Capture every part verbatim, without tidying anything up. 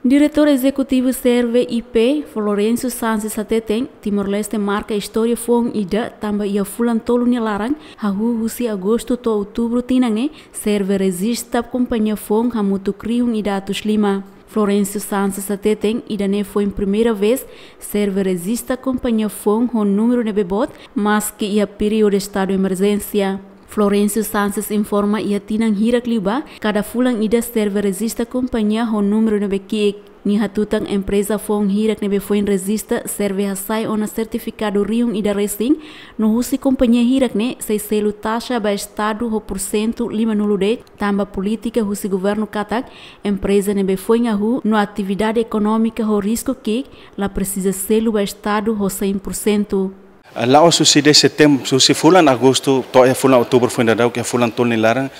Diretór Ezekutivu Serve I P, Florencio Sanches hateten, Timor-Leste marka istória foun ida tanba iha fulan tolu nia laran, hahú husi agostu to'o outubru tinan ne'e, Serve rejista kompañia foun hamutuk rihun ida atus lima. Florencio Sanches hateten, ida-ne'e foin primeira vez Serve rejista kompañia foun ho númeru ne'ebé boot, maski iha períodu estadu emerjénsia. Florencio Sanches informa, iha tinan hirak liubá, kada fulan ida Serve rejista kompañia ho númeru ne'ebé ki'ik. Nia hatutan, empreza foun hirak ne'ebé foin rejista Serve hasai ona sertifikadu rihun ida resin, no husi kompañia hirak ne'e sei selu taxa ba estadu ho pursentu limanulu de'it, tanba polítika husi governu katak empreza ne'ebé foin hahú no atividade ekonómika ho risku ki'ik la presiza selu ba estadu ho cem por cento. Ah, la'ós husi de'it setembru, husi fulan agostu to'o iha fulan outubru foin daudauk iha fulan tolu nia laran,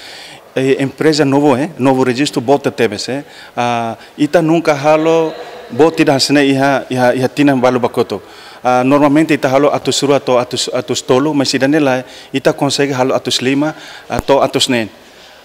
eh, empreza novu, eh, novu rejistu boot tebes, eh. Ah, ita nunka halo boot ida hanesan ne'e iha, iha, iha tinan balu ba kotuk. Ah, normalmente ita halo atus rua to'o atus, atus tolu, mas ida-ne'e lae, ita konsege halo atus lima, ah, to'o atus neen.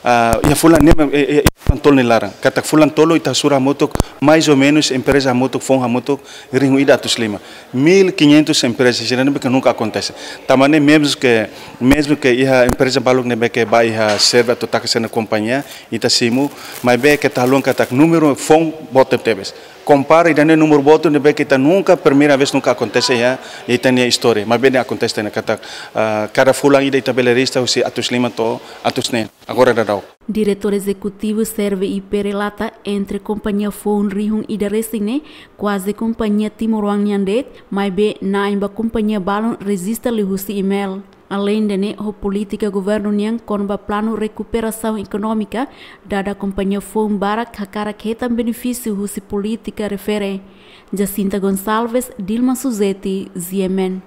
Ah, iha fulan ne'e, eh, eh, fulan tolu nia laran. Katak fulan tolu ita sura hamutuk, mais ou menus, empreza hamutuk, foun hamutuk, rihun ida atus lima. Mil e quinhentos emprezas, ida-ne'e nunka akontese. Tanba ne'e, mezmu ke, mezmu ke iha empreza balu ne'ebé ke ba iha Serve atu taka sira-nia kompañia, ita simu, maibé keta haluha katak númeru foun boot tebes. Kompara ida-ne'e númeru boot ne'ebé ke ita nunka, primeira vez nunka akontese iha, iha ita-nia istória. Maibé ne'e akontese tiha ona katak, ah, kada fulan ida ita bele rejista husi atus lima to'o atus neen. Agora daudauk. Diretór Ezekutivu Serve I P relata, entre kompañia foun rihun ida resin ne'e, kuaze kompañia timoroan nian de'it, maibé na'in ba kompañia balun rejista liuhusi email. Aleinde ne'e, ho polítika governu nian kona-ba planu rekuperasaun ekonómika, dada kompañia foun barak hakarak hetan benefísiu husi polítika refere. Jacinta Gonçalves, Dilma Suzeti, G M N.